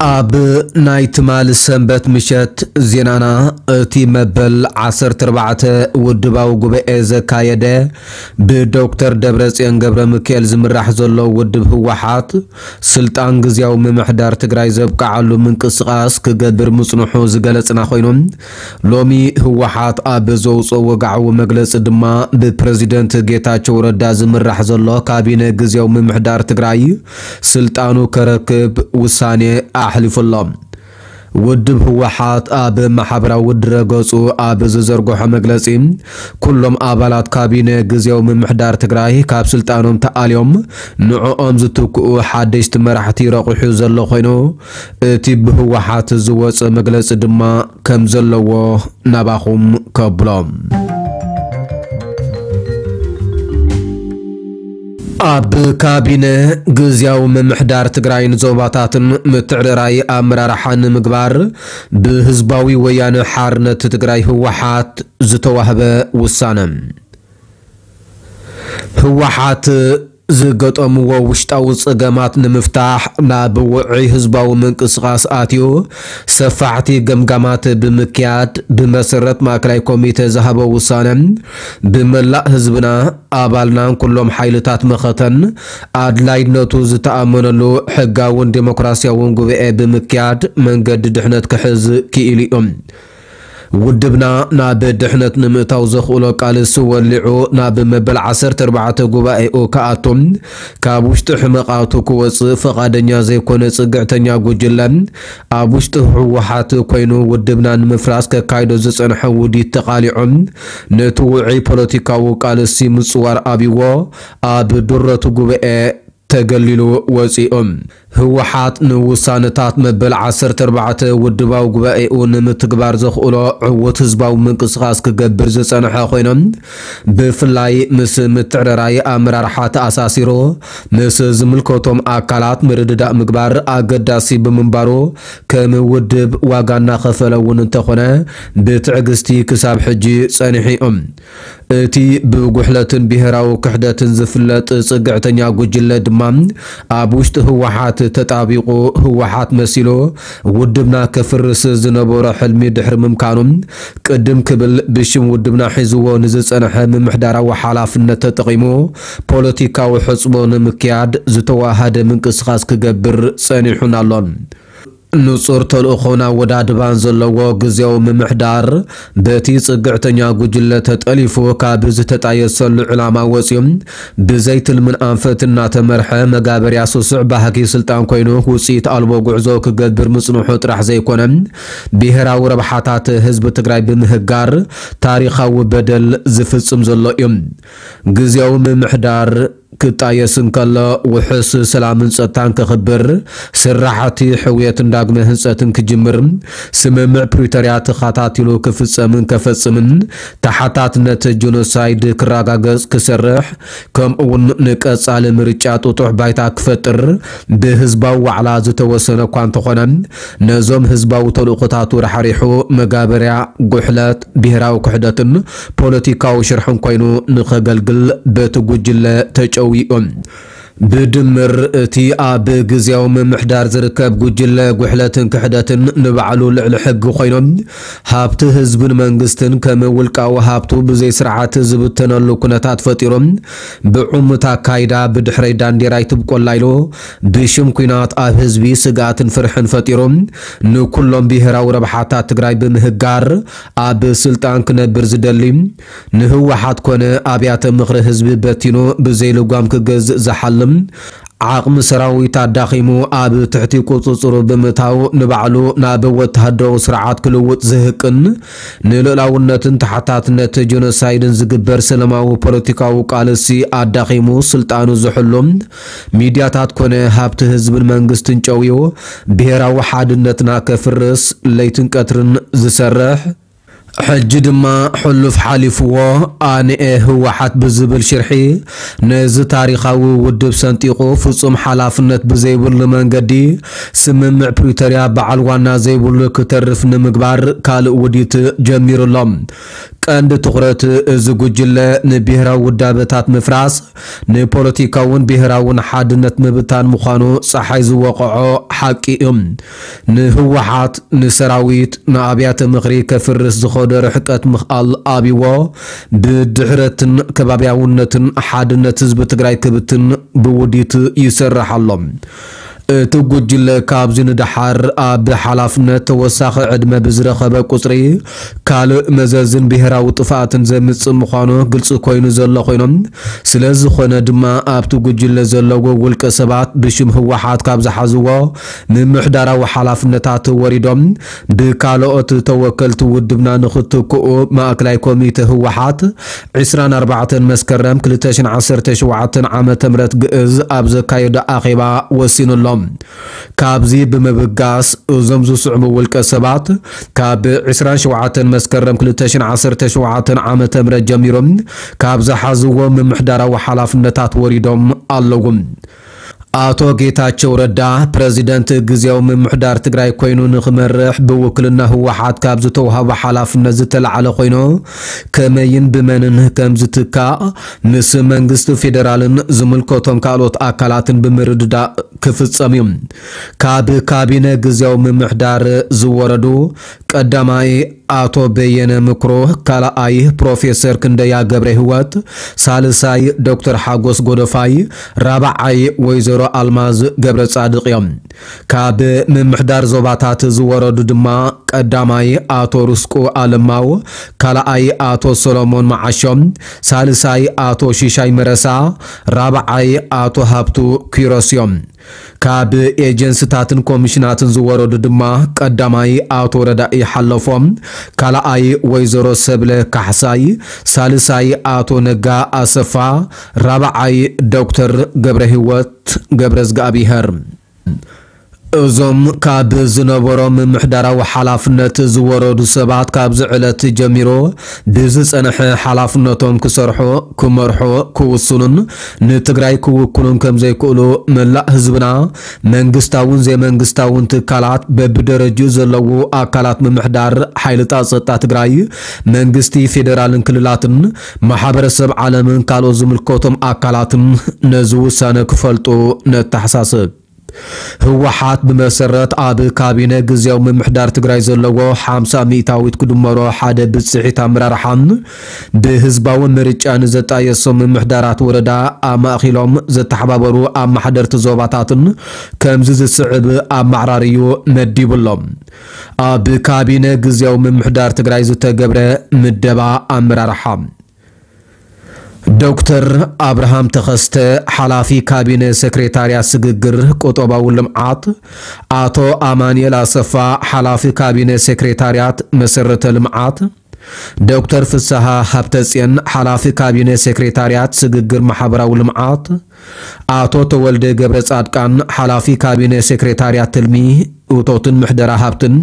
ኣብ ናይ ትማሊ ሰንበት ምሸት ዜናና፣ እቲ መበል ዓሰርተ ኣርባዕተ ውድባዊ ጉባኤ ዘካየደ ብዶክተር ደብረጽዮን ገብረ ሚካኤል ዝምራሕ ዘሎ ውድብ ህወሓት፣ ስልጣን ግዝያዊ ምምሕዳር ትግራይ ዘብቅዓሉ ምንቅስቓስ ክገብር ምጽንሑ ዝገለጽና ኮይኑ፣ ሎሚ ህወሓት ኣብ ዘውፅኦ ወግዓዊ መግለፂ ድማ፣ ብፕረዚደንት ጌታቸው ረዳ ዝምራሕ ዘሎ ካቢነ ግዝያዊ ምምሕዳር ትግራይ ስልጣኑ ከረክብ ውሳኔ ኣሕሊፉ ኣሎ። ውድብ ህወሓት ኣብ ማሕበራዊ ድረገፁ ኣብ ዝዘርግሖ መግለፂ፣ ኩሎም ኣባላት ካቢነ ግዝያዊ ምምሕዳር ትግራይ ካብ ስልጣኖም ተኣልዮም፣ ንዕኦም ዝትክኡ ሓደሽቲ መራሕቲ ረቑሑ ዘሎ ኮይኑ፣ እቲ ብህወሓት ዝወፀ መግለፂ ድማ ከም ዘለዎ ናባኹም ከብሎ። ኣብ ካቢነ ግዝያዊ ምምሕዳር ትግራይን ዞባታትን ምትዕርራይ ኣመራርሓ ንምግባር፣ ብህዝባዊ ወያነ ሓርነት ትግራይ ህወሓት ዝተዋህበ ውሳነ። ህወሓት ዝገጠምዎ ውሽጣዊ ጸገማት ንምፍታሕ ናብ ውዑይ ህዝባዊ ምንቅስቓስ ኣትዩ፣ ሰፋሕቲ ገምጋማት ብምክያድ፣ ብመሰረት ማእከላይ ኮሚተ ዝሃቦ ውሳነ፣ ብመላእ ህዝብና፣ ኣባልናን ኩሎም ሓይልታት መኸተን ኣድላይነቱ ዝተኣመነሉ ሕጋውን ዴሞክራሲያውን ጉባኤ ብምክያድ መንገዲ ድሕነት ክሕዝ ክኢሉ እዩ። ውድብና ናብ ድሕነት ንምእታው ዘኽእሎ ቃልሲ ወሊዑ ናብ መበል ዓሰርተ ኣርባዕተ ጉባኤኡ ክኣቱ፣ ካብ ውሽጢ ሕመቓቱ ክወጽእ ፈቓደኛ ዘይኮነ ጽግዕተኛ ጉጅለ፣ ኣብ ውሽጢ ህወሓት ኮይኑ ውድብና ንምፍራስ ከካይዶ ዝጸንሐ ውዲት ተቓሊዑ፣ ነቲ ውዑይ ፖለቲካዊ ቃልሲ ምጽዋር ኣብይዎ፣ ኣብ ድረቱ ጉባኤ ተገሊሉ ወጺኡ። ህወሓት ንውሳነታት መበል ዓሰርተ ኣርባዕተ ውድባዊ ጉባኤኡ ንምትግባር ዘኽእሎ ዕዉት ህዝባዊ ምንቅስቓስ ክገብር ዝጸንሐ ኮይኑ፣ ብፍላይ ምስ ምትዕርራይ ኣመራርሓ ተኣሳሲሩ፣ ምስ ዝምልከቶም ኣካላት ምርድዳእ ምግባር ኣገዳሲ ብምንባሩ፣ ከም ውድብ ዋጋ እናኸፈለ እውን እንተኾነ፣ ብትዕግስቲ ክሳብ ሕጂ ጸኒሑ እዩ። እቲ ብጉሕለትን ብሄራዊ ክሕደትን ዝፍለጥ ጽግዕተኛ ጉጅለ ድማ፣ ኣብ ውሽጢ ህወሓት ተጣቢቑ፣ ህወሓት መሲሉ ውድብና ከፍርስ ዝነበሮ ሕልሚ ድሕሪ ምምካኑ፣ ቅድም ክብል ብሽም ውድብና ሒዝዎ ንዝጸንሐ ምምሕዳራዊ ሓላፍነት ተጠቒሙ፣ ፖለቲካዊ ሕጽቦ ንምክያድ ዝተዋሃደ ምንቅስቓስ ክገብር ጸኒሑን ኣሎን። ንጹር ተልእኾን ኣወዳድባን ዘለዎ ግዝያዊ ምምሕዳር፣ በቲ ጽግዕተኛ ጉጅለ ተጠሊፉ፣ ካብ ዝተጣየሰሉ ዕላማ ወጺኡ፣ ብዘይ ትልምን ኣንፈት እናተመርሐ፣ መጋበርያ ስሱዕ ባህጊ ስልጣን ኮይኑ፣ ውጽኢት ኣልቦ ጉዕዞ ክገብር ምጽንሑ ጥራሕ ዘይኮነ፣ ብሄራዊ ረብሓታት ህዝቢ ትግራይ ብምህጋር፣ ታሪኻዊ በደል ዝፍጽም ዘሎ እዩ። ግዝያዊ ምምሕዳር ክጣየስ እንከሎ፣ ውሑስ ሰላምን ጸጥታን ከኽብር፣ ስራሕቲ ሕውየትን ዳግመ ህንጸትን ክጅምር፣ ስምምዕ ፕሪቶርያ ተኸታቲሉ ክፍጸምን ከፈጽምን፣ ተሓታትነት ጀኖሳይድ ክረጋገጽ ክሰርሕ፣ ከምኡውን ንቀጻሊ ምርጫ ጥጡሕ ባይታ ክፈጥር፣ ብህዝባዊ ዋዕላ ዝተወሰነ እኳ እንተኾነ፣ ነዞም ህዝባዊ ተልእኾታቱ ራሕሪሑ፣ መጋበርያ ጉሕለት፣ ብሄራዊ ክሕደትን ፖለቲካዊ ሽርሕን ኮይኑ ንኸገልግል በቲ ጉጅለ ተጨዊኡ። ብድምር፣ እቲ ኣብ ግዝያዊ ምምሕዳር ዝርከብ ጉጅለ ጉሕለትን ክሕደትን ንባዕሉ ልዕሊ ሕጊ ኮይኖም፣ ሃብቲ ህዝብን መንግስትን ከም ውልቃዊ ሃብቱ ብዘይ ስርዓት ዝብተነሉ ኩነታት ፈጢሮም፣ ብዕሙት ኣካይዳ ብድሕረይ ዳንዴራ ይትብቆላ ኢሉ፣ ብሽም ኲናት ኣብ ህዝቢ ስግኣትን ፍርሕን ፈጢሮም፣ ንኩሎም ብሄራዊ ረብሓታት ትግራይ ብምህጋር፣ ኣብ ስልጣን ክነብር ዝደሊ፣ ንህወሓት ኮነ ኣብያተ ምኽሪ ህዝቢ በቲኑ ብዘይ ልጓም ክገዝእ ዝሓልም፣ ዓቕሚ ሰራዊት ኣዳኺሙ ኣብ ትሕቲ ቁጽጽሩ ብምእታው፣ ንባዕሉ ናብ ወተሃደራዊ ስርዓት ክልውጥ ዝህቅን፣ ንልኡላውነትን ተሓታትነት ጀኖሳይድን ዝግበር ሰላማዊ ፖለቲካዊ ቃልሲ ኣዳኺሙ ስልጣኑ ዝሕሉ፣ ሚድያታት ኮነ ሃብቲ ህዝብን መንግስትን ጨውዩ፣ ብሄራዊ ሓድነትና ከፍርስ ለይትን ቀትርን ዝሰርሕ፣ ሕጂ ድማ ሕሉፍ ሓሊፍዎ ኣንኤ ህወሓት ብዝብል ሽርሒ ነዚ ታሪኻዊ ውድብ ሰንጢቑ ፍጹም ሓላፍነት ብዘይብሉ መንገዲ ስምምዕ ፕሪቶርያ በዓል ዋና ዘይብሉ ክተርፍ ንምግባር ካልእ ውዲት ጀሚሩ ኣሎ። ቀንዲ ትኹረት እዚ ጉጅለ ንብሄራዊ ውዳበታት ምፍራስ፣ ንፖለቲካውን ብሄራውን ሓድነት ምብታን ምዃኑ ጸሓይ ዝወቕዖ ሓቂ እዩ። ንህወሓት፣ ንሰራዊት፣ ንኣብያተ ምኽሪ ከፍርስ ዝኸዶ ርሕቀት ምኽኣል ኣብይዎ፣ ብድሕረትን ከባብያውነትን ሓድነት ህዝቢ ትግራይ ክብትን ብውዲት ይሰርሕ ኣሎ። እቲ ጉጅለ ካብዚ ንደሓር ኣብ ሓላፍነት ተወሳኺ ዕድመ ብዝረኸበ ቁጽሪ ካልእ መዘዝን ብሄራዊ ጥፍኣትን ዘምጽእ ምዃኑ ግልጺ ኮይኑ ዘሎ ኮይኖም፣ ስለ ዝኾነ ድማ ኣብቲ ጉጅለ ዘለዉ ውልቀ ሰባት ብሽም ህወሓት ካብ ዝሓዝዎ ምምሕዳራዊ ሓላፍነታት ወሪዶም ብካልኦት ተወከልቲ ውድብና ንኽትክኡ ማእከላይ ኮሚተ ህወሓት ዕስራን ኣርባዕተን መስከረም ክልተ ሽሕን ዓሰርተ ሸውዓተን ዓመተ ምህረት ግእዝ ኣብ ዘካየዶ ኣኼባ ወሲኑ ኣሎ። ካብዚ ብምብጋስ እዞም ዝስዕቡ ውልቀ ሰባት ካብ ዕስራን ሸውዓተን መስከረም ክልተ ሽሕን ዓሰርተ ሸውዓተን ዓመተ ምህረት ጀሚሮም ካብ ዝሓዝዎ ምምሕዳራዊ ሓላፍነታት ወሪዶም ኣለዉ። ኣቶ ጌታቸው ረዳ ፕረዚደንት ግዝያዊ ምምሕዳር ትግራይ ኮይኑ ንኽመርሕ ብውክልና ህወሓት ካብ ዝተውሃቦ ሓላፍነት ዝተላዕለ ኮይኑ፣ ከመይን ብመንን ከም ዝትካእ ምስ መንግስቲ ፌዴራልን ዝምልከቶም ካልኦት ኣካላትን ብምርድዳእ ክፍጸም እዩ። ካብ ካቢነ ግዝያዊ ምምሕዳር ዝወረዱ ቀዳማይ ኣቶ በየነ ምክሮ፣ ካልኣይ ፕሮፌሰር ክንደያ ገብረ ህይወት፣ ሳልሳይ ዶክተር ሓጎስ ጎደፋይ፣ ራብዓይ ወይዘሮ ኣልማዝ ገብረ ጻድቕ እዮም። ካብ ምምሕዳር ዞባታት ዝወረዱ ድማ ቀዳማይ ኣቶ ርስቁ ኣለማው፣ ካልኣይ ኣቶ ሰሎሞን መዓሾም፣ ሳልሳይ ኣቶ ሽሻይ መረሳ፣ ራብዓይ ኣቶ ሃብቱ ኪሮስ እዮም። ካብ ኤጀንስታትን ኮሚሽናትን ዝወረዱ ድማ ቀዳማይ ኣቶ ረዳኢ ሓለፎም፣ ካልኣይ ወይዘሮ ሰብለ ካሕሳይ፣ ሳልሳይ ኣቶ ነጋ ኣሰፋ፣ ራብዓይ ዶክተር ገብረ ህይወት ገብረ ዝጋኣብሄር። እዞም ካብ ዝነበሮም ምምሕዳራዊ ሓላፍነት ዝወረዱ ሰባት ካብዚ ዕለት ጀሚሩ ብዝጸንሐ ሓላፍነቶም ክሰርሑ፣ ክመርሑ፣ ክውስኑን ንትግራይ ክውክሉን ከም ዘይክእሉ መላእ ህዝብና፣ መንግስታውን ዘይመንግስታውን ትካላት፣ በብደረጅኡ ዘለዉ ኣካላት ምምሕዳር፣ ሓይልታት ጸጥታ ትግራይ፣ መንግስቲ ፌዴራልን ክልላትን፣ ማሕበረሰብ ዓለምን ካልኦት ዝምልከቶም ኣካላትን ነዚ ውሳነ ክፈልጡ ነተሓሳስብ። ህወሓት ብመሰረት ኣብ ካቢነ ግዝያዊ ምምሕዳር ትግራይ ዘለዎ ሓምሳ ሚእታዊት ክድመሮ ሓደ ብፅሒት ኣመራርሓን ብህዝባዊ ምርጫ ንዘጣየሶም ምምሕዳራት ወረዳ ኣማእኪሎም ዘተሓባበሩ ኣመሓደርቲ ዞባታትን ከምዚ ዝስዕብ ኣመዓራርዩ መዲቡ ኣሎ። ኣብ ካቢነ ግዝያዊ ምምሕዳር ትግራይ ዝተገብረ ምደባ ኣመራርሓ። ዶክተር ኣብርሃም ተኸስተ፣ ሓላፊ ካቢነ ሴክሬታርያት ስግግር ቁጠባዊ ልምዓት፣ ኣቶ ኣማኑኤል ኣሰፋ፣ ሓላፊ ካቢነ ሴክሬታርያት መሰረተ ልምዓት፣ ዶክተር ፍስሃ ሃብተጽዮን፣ ሓላፊ ካቢነ ሴክሬታርያት ስግግር ማሕበራዊ ልምዓት፣ ኣቶ ተወልደ ገብረ ጻድቃን፣ ሓላፊ ካቢነ ሴክሬታርያት ትልሚ፣ እቶትን ምሕደራ ሃብትን፣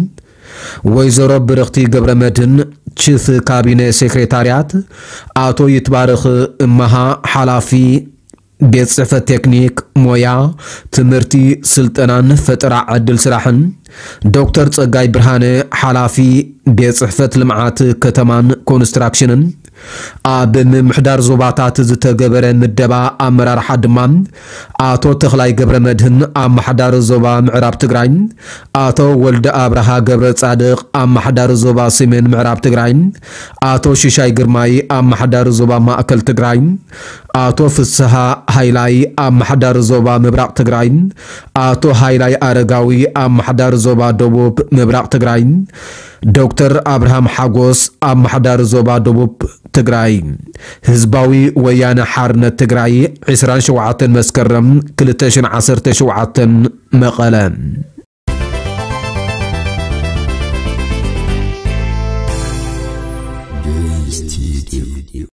ወይዘሮ ብርኽቲ ገብረ መድህን፣ ቺፍ ካቢነ ሴክሬታርያት፣ ኣቶ ይትባረኽ እመሃ፣ ሓላፊ ቤት ጽሕፈት ቴክኒክ ሞያ፣ ትምህርቲ፣ ስልጠናን ፈጠራ ዕድል ስራሕን፣ ዶክተር ጸጋይ ብርሃነ፣ ሓላፊ ቤት ጽሕፈት ልምዓት ከተማን ኮንስትራክሽንን፣ ኣብ ምምሕዳር ዞባታት ዝተገበረ ምደባ ኣመራርሓ ድማ፣ ኣቶ ተኽላይ ገብረ መድህን፣ ኣመሓዳሪ ዞባ ምዕራብ ትግራይ፣ ኣቶ ወልደ ኣብርሃ ገብረ ጻድቕ፣ ኣመሓዳሪ ዞባ ሰሜን ምዕራብ ትግራይ፣ ኣቶ ሽሻይ ግርማይ፣ ኣመሓዳሪ ዞባ ማእከል ትግራይ፣ ኣቶ ፍስሃ ሃይላይ፣ ኣመሓዳሪ ዞባ ምብራቕ ትግራይ፣ ኣቶ ሃይላይ ኣረጋዊ፣ ኣመሓዳሪ ዞባ ደቡብ ምብራቕ ትግራይ፣ ዶክተር ኣብርሃም ሓጎስ፣ ኣመሓዳሪ ዞባ ደቡብ ትግራይ። ህዝባዊ ወያነ ሓርነት ትግራይ፣ ዕስራን ሸውዓተን መስከረም ክልተ ሽሕን ዓሰርተ ሸውዓተን፣ መቐለ።